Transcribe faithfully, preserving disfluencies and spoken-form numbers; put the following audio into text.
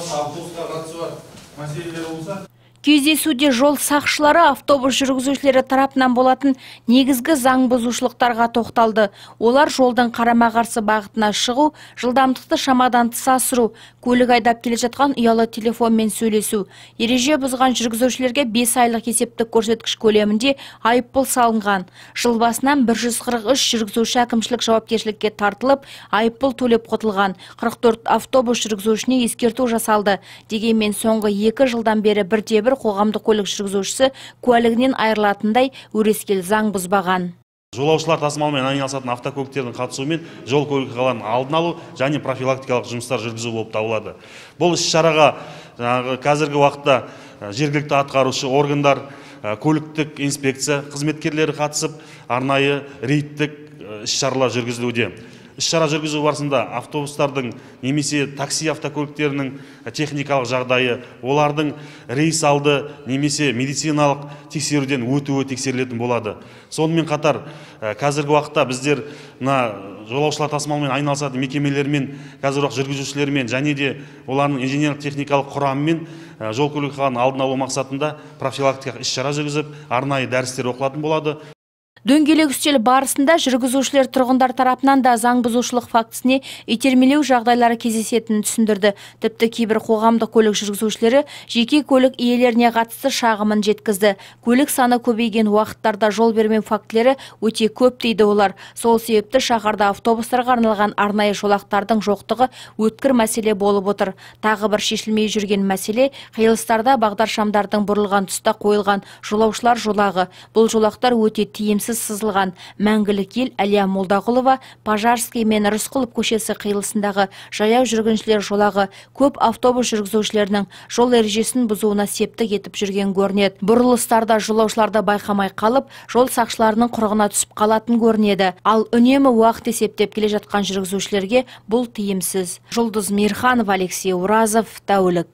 басқа автобусқа қатысы бар мәселелер болса. Кездесуде жол сақшылары автобус жүргізушілері тарапынан болатын негізгі заң бұзушылықтарға тоқталды. Олар жолдың қарама-қарсы бағытына шығу, жылдамдықты шамадан тыс асыру, көлік айдап келе жатқан ұялы телефонмен сөйлесу. Ереже бұзған жүргізушілерге бес айлық есептік көрсеткіш көлемінде айыппұл салынған. Жыл басынан бір жүз қырық үш жүргізуші әкімшілік жауапкершілікке тартылып, айыппұл төлеп құтылған. қырық төрт автобус жүргізушісіне ескерту жасалды. Дегенмен соңғы екі жылдан бері бірде-бір қоғамдық көлік жүргізушісі куәлігінен айырылатындай өрескел заң бұзбаған. Жолаушылар тасымалымен айналысатын автокөліктердің қатысуымен жол көлік оқиғаларын алдын алу және профилактикалық жұмыстар жүргізу болып табылады. Бұл іс-шараға қазіргі уақытта жергілікті атқарушы органдар, көліктік инспекция қызметкерлері қатысып, арнайы рейдтік іс-шаралар жүргізілуде. Іс-шара жүргізу барысында автобустардың немесе такси автокөліктерінің техникалық жағдайы, олардың рейс алды немесе медициналық тексеруден өтуі тексерілетін болады. Сонымен қатар қазіргі уақытта біздер жолаушылар тасымалымен айналысатын мекемелермен, қазір уақыт жүргізушілермен және де олардың инженерлік техникалық құрамымен жол көлік оқиғаларын алдын алу мақсатында профилактикалық іс-шара жүргізіп, арнайы дәрістер оқылатын болады. Дөңгелек үстел барысында жүргізушілер тұрғындар тарапынан да заң бұзушылық фактісіне итермелеу жағдайлары кездесетінін түсіндірді. Тіпті кейбір қоғамдық көлік жүргізушілері жеке көлік иелеріне қатысты шағымын жеткізді. Көлік саны көбейген уақыттарда жол бермеу фактілері өте көп дейді олар. Сол себепті шаһарда автобустарға арналған арнайы жолақтардың жоқтығы өткір мәселе болып отыр. Тағы бір шешілмей жүрген мәселе қиылыстарда бағдаршамдардың бұрылған тұста қойылған жолаушылар жолағы. Бұл жолақтар өте тиімсіз сызылған. Мәңгілік ел Әлия Молдағұлова Пожарский мен Рысқұлов көшесі қиылысындағы жаяу жүргіншілер жолағы көп автобус жүргізушілерінің жол ережесін бұзуына септік етіп жүрген көрінеді. Бұрылыстарда жолаушыларды байқамай қалып, жол сақшыларының құрығына түсіп қалатын көрінеді. Ал үнемі уақыт есептеп келе жатқан жүргізушілерге бұл тиімсіз. Жұлдыз Мирханова, Алексей Уразов, Тәулік.